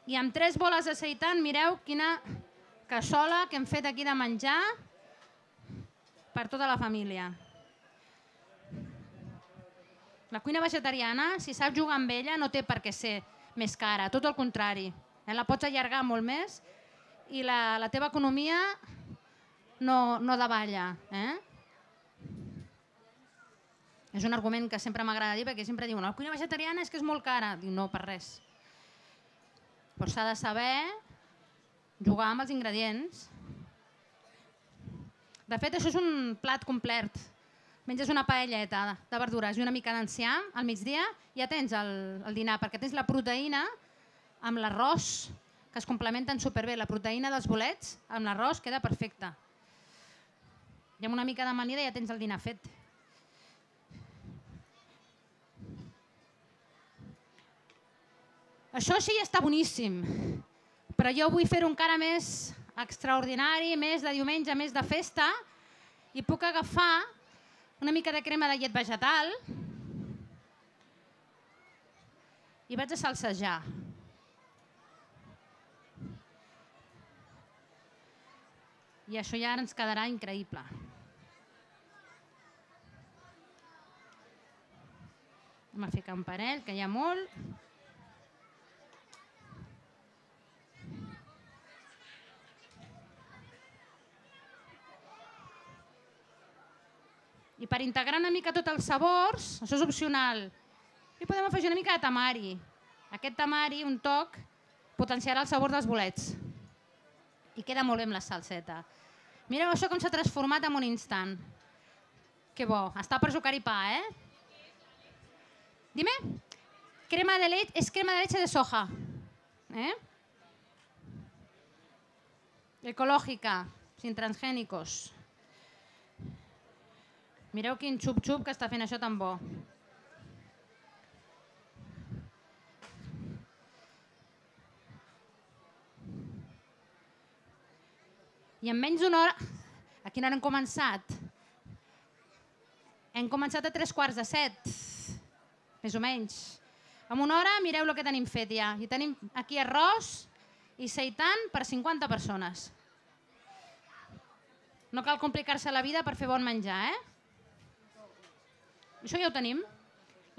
I amb 3 boles de seitan, mireu quina cassola que hem fet aquí de menjar per tota la família. La cuina vegetariana, si saps jugar amb ella, no té per què ser més cara, tot el contrari. La pots allargar molt més i la teva economia no davalla. És un argument que sempre m'agrada dir, perquè sempre diuen la cuina vegetariana és que és molt cara. Diu, no, per res. Però s'ha de saber jugar amb els ingredients. De fet, això és un plat complet. Menges una paelleta de verdures i una mica d'enciam al migdia, ja tens el dinar, perquè tens la proteïna amb l'arròs, que es complementen superbé. La proteïna dels bolets amb l'arròs queda perfecta. I amb una mica d'amanida ja tens el dinar fet. Això sí està boníssim, però jo vull fer-ho encara més extraordinari, més de diumenge, més de festa, i puc agafar una mica de crema de llet vegetal i vaig a salsejar. I això ja ens quedarà increïble. Anem a ficar un parell, que hi ha molt. I per integrar una mica tots els sabors, això és opcional, hi podem afegir una mica de tamari. Aquest tamari, un toc, potenciarà el sabor dels bolets. I queda molt bé amb la salseta. Mireu això com s'ha transformat en un instant. Que bo, està per sucar-hi pa, Dime? Crema de leche, es crema de leche de soja. Ecológica, sin transgénicos. Mireu quin xup-xup que està fent això tan bo. I en menys d'una hora... A quina hora hem començat? Hem començat a 6:45, més o menys. En una hora mireu el que tenim fet ja. I tenim aquí arròs i seitan per 50 persones. No cal complicar-se la vida per fer bon menjar, Això ja ho tenim.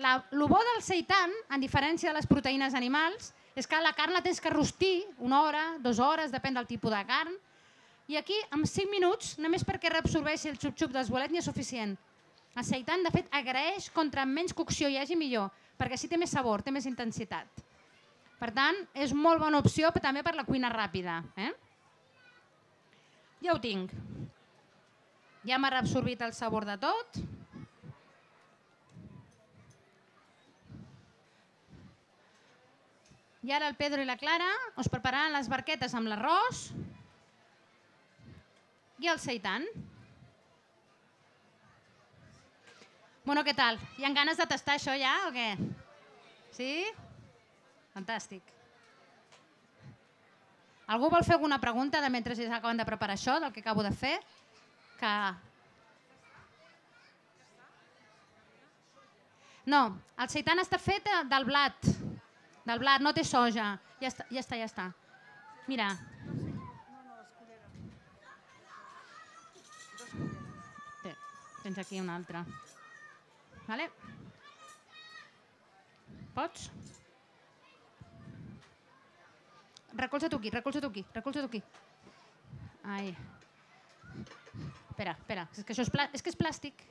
El bo del seitan, en diferència de les proteïnes animals, és que la carn la tens que rostir 1 hora, 2 hores, depèn del tipus de carn. I aquí, en 5 minuts, només perquè reabsorbeixi el xup-xup dels bolets n'hi és suficient. El seitan, de fet, agraeix contra menys cocció hi hagi millor, perquè així té més sabor, té més intensitat. Per tant, és molt bona opció també per la cuina ràpida. Ja ho tinc. Ja m'ha reabsorbit el sabor de tot. I ara el Pedro i la Clara us prepararan les barquetes amb l'arròs i el seitan. Bueno, què tal? Hi ha ganes de tastar això ja o què? Sí? Fantàstic. Algú vol fer alguna pregunta de mentre acaben de preparar això, del que acabo de fer? Que No, el seitan està fet del blat. Del blat, no té soja. Ja està. Mira. Tens aquí una altra. Vale? Pots? Recolza-t'ho aquí. Ai. Espera, és que això és plàstic.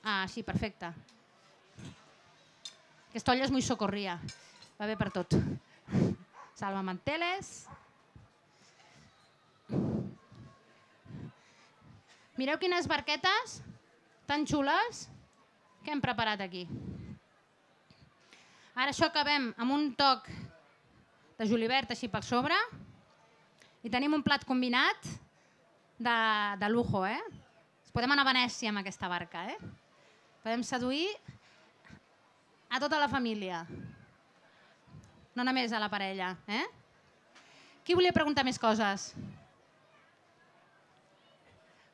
Ah, sí, perfecte. Aquesta olla és muy socorria. Va bé per tot. Salvamanteles. Mireu quines barquetes tan xules que hem preparat aquí. Ara això acabem amb un toc de julivert així per sobre i tenim un plat combinat de lujo. Podem anar a Venècia amb aquesta barca. Podem seduir a tota la família, no només a la parella. Qui volia preguntar més coses?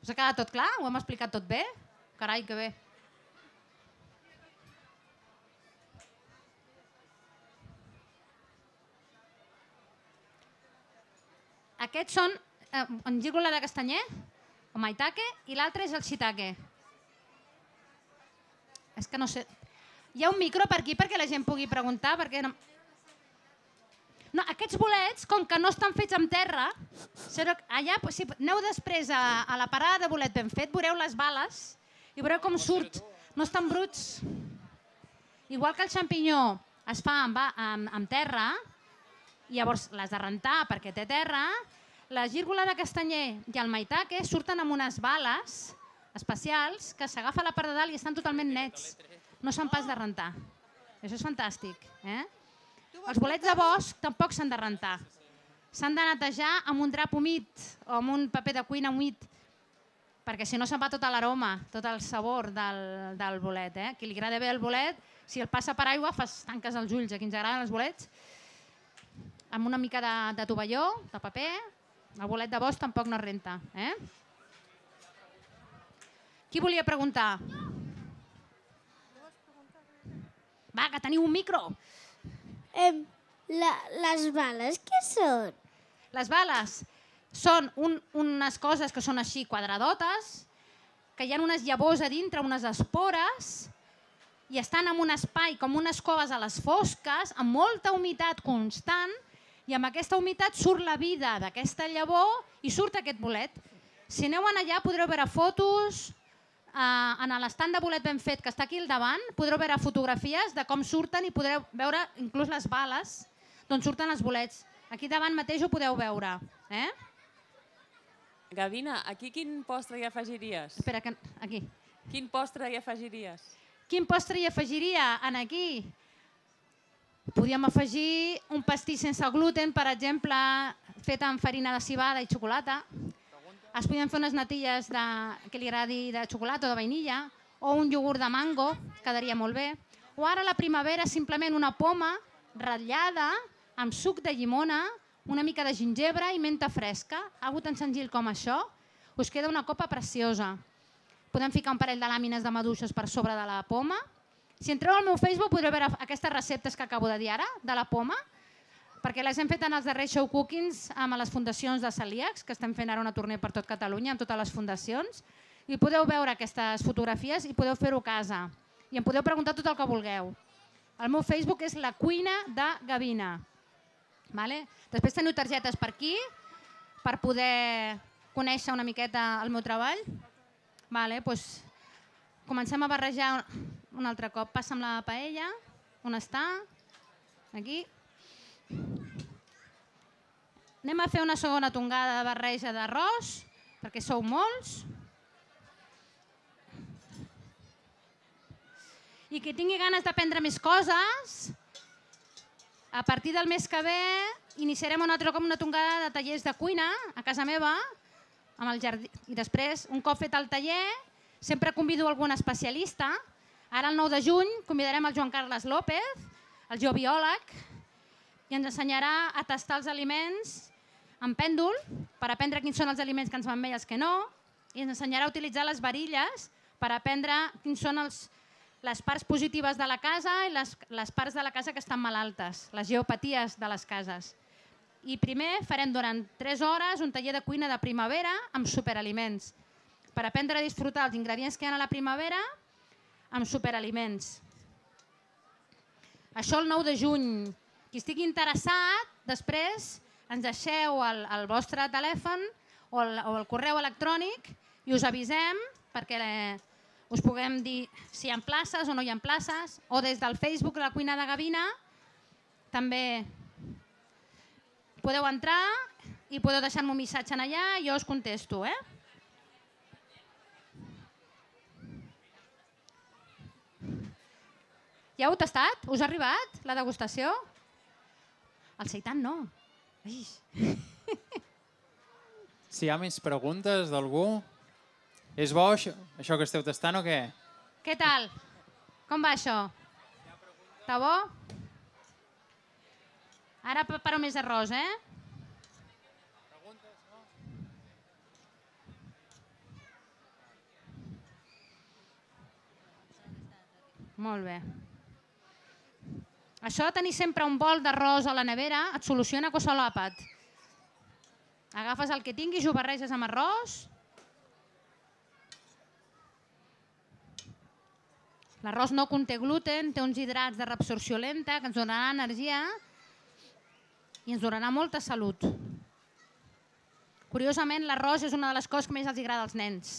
Us ha quedat tot clar? Ho hem explicat tot bé? Carai, que bé. Aquests són en gírgola de castanyer, o maitake, i l'altre és el shiitake. És que no sé... Hi ha un micro per aquí perquè la gent pugui preguntar, perquè no... No, aquests bolets, com que no estan fets amb terra, allà, si aneu després a la parada de bolet ben fet, veureu les bales i veureu com surt. No estan bruts. Igual que el xampinyó es fa amb terra, i llavors l'has de rentar perquè té terra, la gírgola de castanyer i el maitake surten amb unes bales especials que s'agafa a la part de dalt i estan totalment nets. No s'han pas de rentar. Això és fantàstic. Els bolets de bosc tampoc s'han de rentar. S'han de netejar amb un drap humit o amb un paper de cuina humit, perquè si no se'n va tota l'aroma, tot el sabor del bolet. A qui li agrada bé el bolet, si el passa per aigua, tanques els ulls. A qui ens agraden els bolets, amb una mica de tovalló, de paper, el bolet de bosc tampoc no es renta. Qui volia preguntar? Va, que teniu un micro. Les bales què són? Les bales són unes coses que són així quadradotes, que hi ha unes llavors a dintre, unes espores, i estan en un espai com unes coves a les fosques, amb molta humitat constant, i amb aquesta humitat surt la vida d'aquesta llavor i surt aquest bolet. Si aneu allà podreu veure fotos, en l'estant de bolet ben fet que està aquí al davant, podreu veure fotografies de com surten i podreu veure inclús les bales d'on surten els bolets. Aquí davant mateix ho podeu veure. Gavina, aquí quin postre hi afegiries? Espera, aquí. Quin postre hi afegiries? Quin postre hi afegiria aquí? Podríem afegir un pastís sense gluten, per exemple, fet amb farina de civada i xocolata. Es podien fer unes natilles que li agradi de xocolata o de vainilla, o un iogurt de mango, quedaria molt bé. O ara a la primavera simplement una poma ratllada amb suc de llimona, una mica de gingebre i menta fresca. Algo tan senzill com això, us queda una copa preciosa. Podem ficar un parell de làmines de maduixes per sobre de la poma. Si entreu al meu Facebook podreu veure aquestes receptes que acabo de dir ara, de la poma, perquè les hem fet en els darrers show cookings amb les fundacions de celíacs, que estem fent ara una tournée per tot Catalunya, amb totes les fundacions, i podeu veure aquestes fotografies i podeu fer-ho a casa. I em podeu preguntar tot el que vulgueu. El meu Facebook és La Cuina de Gavina. Després teniu targetes per aquí, per poder conèixer una miqueta el meu treball. Comencem a barrejar un altre cop. Passa'm la paella. On està? Aquí. Anem a fer una segona tongada de barreja d'arròs, perquè sou molts. I qui tingui ganes d'aprendre més coses, a partir del mes que ve iniciarem un altre cop una tongada de tallers de cuina a casa meva, amb el jardí. I després, un cop fet el taller, sempre convido algun especialista. Ara, el 9 de juny, convidarem el Joan Carles López, el geobiòleg, i ens ensenyarà a tastar els aliments amb pèndol, per aprendre quins són els aliments que ens van bé i els que no, i ens ensenyarà a utilitzar les varilles per aprendre quins són les parts positives de la casa i les parts de la casa que estan malaltes, les geopaties de les cases. I primer farem durant 3 hores un taller de cuina de primavera amb superaliments, per aprendre a disfrutar els ingredients que hi ha a la primavera amb superaliments. Això el 9 de juny. Qui estigui interessat, després ens deixeu el vostre telèfon o el correu electrònic i us avisem perquè us puguem dir si hi ha places o no hi ha places, o des del Facebook de la Cuina de Gavina també podeu entrar i podeu deixar-me un missatge allà i jo us contesto. Ja heu tastat? Us ha arribat la degustació? El seitan no. Si hi ha més preguntes d'algú... És bo això que esteu tastant o què? Què tal? Com va això? Està bo? Ara preparo més arròs, Molt bé. Això de tenir sempre un bol d'arròs a la nevera et soluciona qualsevol àpat. Agafes el que tinguis i ho barreges amb arròs. L'arròs no conté gluten, té uns hidrats de reabsorció lenta que ens donarà energia i ens donarà molta salut. Curiosament, l'arròs és una de les coses que més els agrada als nens.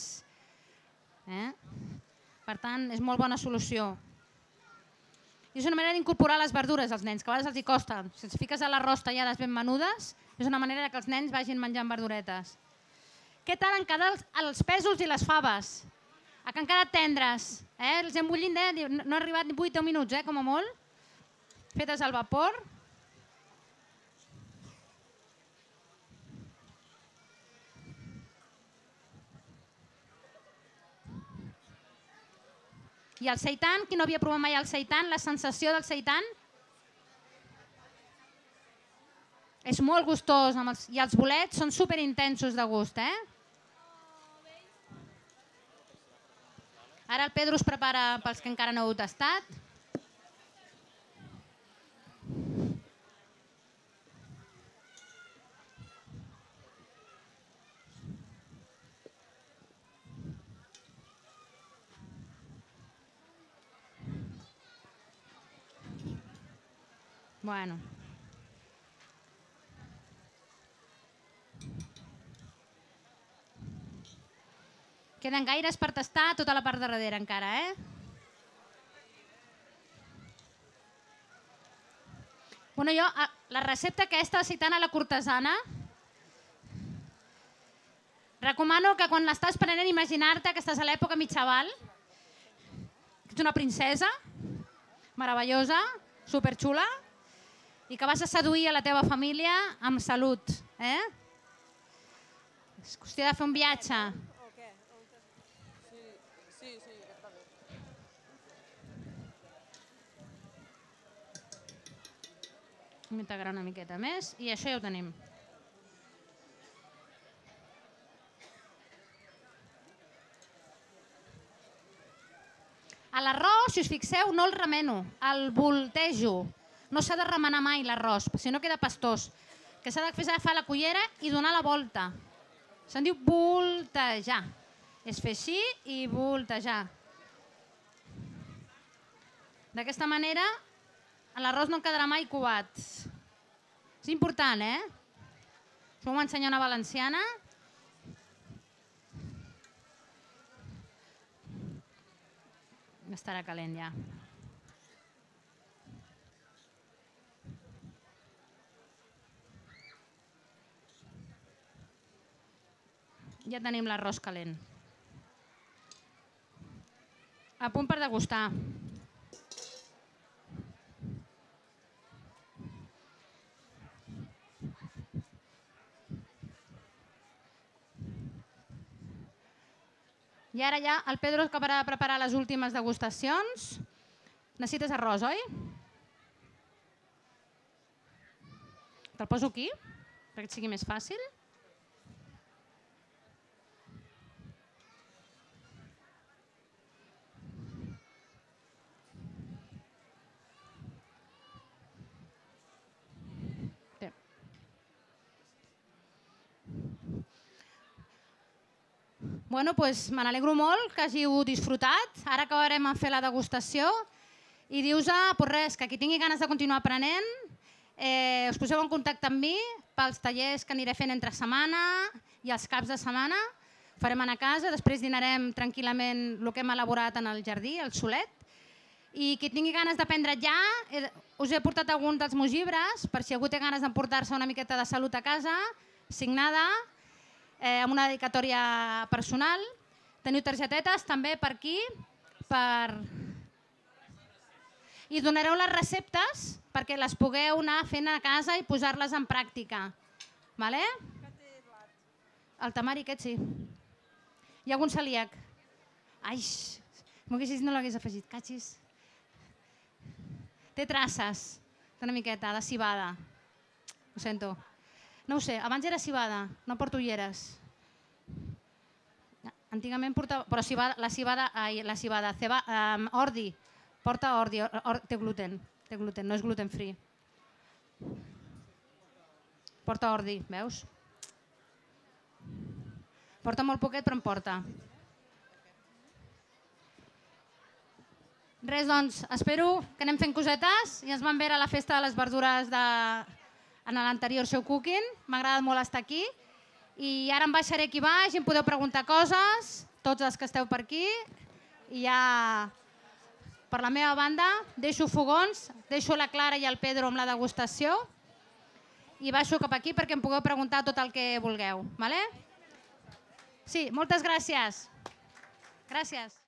Per tant, és molt bona solució. I és una manera d'incorporar les verdures als nens, que a vegades els hi costa. Si els fiques a l'arròs tallades ben menudes, és una manera que els nens vagin menjant verduretes. Què tal han quedat els pèsols i les faves? Que han quedat tendres. Els hem bullit, no ha arribat ni 8 o 10 minuts, com a molt. Fetes al vapor. I el seitan, qui no havia provat mai el seitan, la sensació del seitan és molt gustós i els bolets són superintensos de gust. Ara el Pedro us prepara pels que encara no heu tastat. Bueno. Queden gaires per tastar tota la part de darrere encara, Bueno, jo, la recepta aquesta de seitana a la cortesana, recomano que quan l'estàs prenent imaginar-te que estàs a l'època mitjaval, que ets una princesa meravellosa, superxula, i que vas a seduir a la teva família amb salut. És qüestió de fer un viatge. Integrar una miqueta més i això ja ho tenim. A l'arròs, si us fixeu, no el remeno, el voltejo. No s'ha de remenar mai l'arròs, si no queda pastós. Que s'ha de fer agafar la cullera i donar la volta. Se'n diu voltejar. És fer així i voltejar. D'aquesta manera l'arròs no quedarà mai covat. És important, Us vam ensenyar una valenciana. Estarà calent ja. Ja tenim l'arròs calent. A punt per degustar. I ara ja el Pedro acabarà de preparar les últimes degustacions. Necessites arròs, oi? Te'l poso aquí, perquè et sigui més fàcil. Bueno, doncs me n'alegro molt que hàgiu disfrutat. Ara acabarem a fer la degustació i dius-vos, pues res, que qui tingui ganes de continuar aprenent, us poseu en contacte amb mi pels tallers que aniré fent entre setmana i els caps de setmana. Farem a casa, després dinarem tranquil·lament el que hem elaborat en el jardí, el solet. I qui tingui ganes d'aprendre ja, us he portat alguns dels meus llibres, per si algú té ganes d'emportar-se una miqueta de salut a casa, signada, amb una dedicatòria personal. Teniu targetetes també per aquí, i donareu les receptes perquè les pugueu anar fent a casa i posar-les en pràctica. El temari aquest sí. Hi ha algun celíac? Ai, m'ho haguessis dit no l'hagués afegit, catxis. Té traces d'una miqueta de civada. Ho sento. No ho sé, abans era civada, no porto ulleres. Antigament portava... Però la civada, ordi. Porta ordi, té gluten, no és gluten free. Porta ordi, veus? Porta molt poquet, però en porta. Res, doncs, espero que anem fent cosetes i ens vam veure a la festa de les verdures en l'anterior show cooking. M'ha agradat molt estar aquí. I ara em baixaré aquí baix i em podeu preguntar coses, tots els que esteu per aquí. I ja... Per la meva banda, deixo fogons, deixo la Clara i el Pedro amb la degustació i baixo cap aquí perquè em pugueu preguntar tot el que vulgueu. Sí, moltes gràcies. Gràcies.